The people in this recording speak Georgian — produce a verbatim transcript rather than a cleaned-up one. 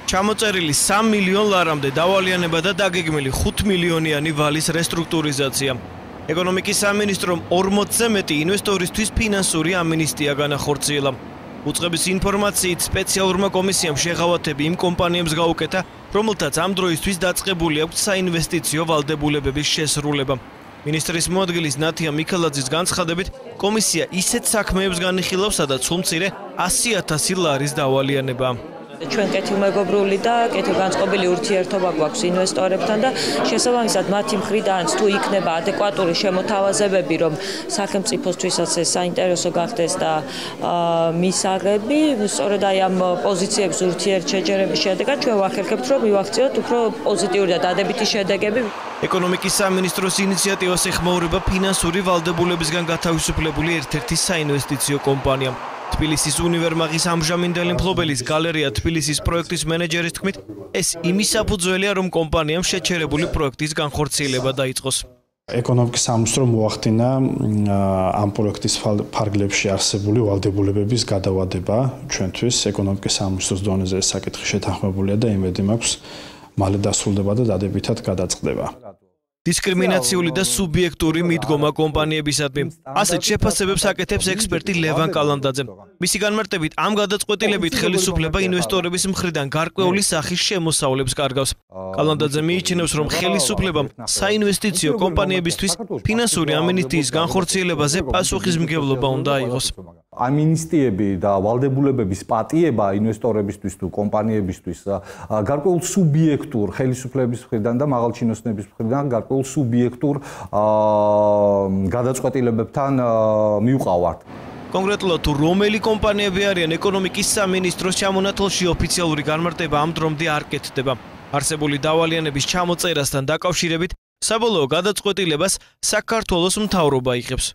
ჩამოწერილი სამ მილიონ ლარამდე დავალიანება და დაგეგმილი ხუთ მილიონიანი ვალის რესტრუქტურიზაცია. ეკონომიკის სამინისტრომ ორმოცზე მეტი ინვესტორისთვის ფინანსური ამინისტია განახორციელა. უწყების ინფორმაციით სპეციალურმა კომისიამ შეღავათები იმ კომპანიებს გაუკეთა, რომელთაც ამ დროისთვის დაწყებული აქვს საინვესტიციო ვალდებულებების შესრულება. მინისტრის მოადგილის ნათია მიქელაძის განცხადებით, კომისია ისეთ საქმეებს განიხილავს, სადაც სულ-მცირე ასი ათასი ლარის დავალიანება. ჩვენ კეთილმეგობრული და კეთილგანწყობილი ურთიერთობა გვაქვს ინვესტორებთან და შესაბამისად მათი მხრიდანაც თუ იქნება ადეკვატური შემოთავაზებები, რომ სახელმწიფოსთვისაც ეს საინტერესო გახდეს და მისაღები, სწორედ აი ამ პოზიციების ურთიერთშეჯერების შედეგად ჩვენ ვახერხებთ, რომ მივახციოთ უფრო პოზიტიური და დადებითი შედეგები. ეკონომიკის სამინისტროს ინიციატივას ეხმაურება ფინანსური ვალდებულებისგან გათავისუფლებული ერთ-ერთი საინვესტიციო კომპანია. თბილისის უნივერმაღის ამჟამინდელი მფლობელის გალერეა თბილისის პროექტის მენეჯერის თქმით, ეს იმის საფუძველია, რომ კომპანიამ შეჩერებული პროექტის განხორციელება დაიწყოს. ეკონომიკის სამინისტრომ მოახდინა ამ პროექტის ფარგლებში არსებული ვალდებულებების გადავადება ჩვენთვის. ეკონომიკის სამინისტროს დონეზე ეს საკითხი შეთანხმებულია და იმედი მაქვს, მალე დასრულდება და დადებითად გადაწყდება. დისკრიმინაციული და სუბიექტური მიდგომა კომპანიებისადმი. ასეთ შეფასებებს აკეთებს ექსპერტი ლევან კალანდაძე. მისი განმარტებით, ამ გადაწყვეტილებით ხელისუფლება ინვესტორების მხრიდან გარკვეული სახის შემოსავლებს კარგავს. კალანდაძე მიიჩნევს, რომ ხელისუფლებამ საინვესტიციო კომპანიებისთვის ფინანსური ამინისტიის განხორციელებაზე პასუხისმგებლობა უნდა აიღოს. ამინისტიები და ვალდებულებების პატიება ინვესტორებისთვის თუ კომპანიებისთვის გარკვეულ სუბიექტურ ხელისუფლების მხრიდან და მაღალჩინოსნების მხრიდან გარკვეულ სუბიექტურ გადაწყვეტილებებთან მივყავართ. კონკრეტულად თუ რომელი კომპანიები არიან ეკონომიკის სამინისტროს ჩამონათვალში ოფიციალური განმარტება ამ დრომდე არ კეთდება. არსებული დავალიანების ჩამოწერასთან დაკავშირებით საბოლოო გადაწყვეტილებას საქართველოს მთავრობა იღებს.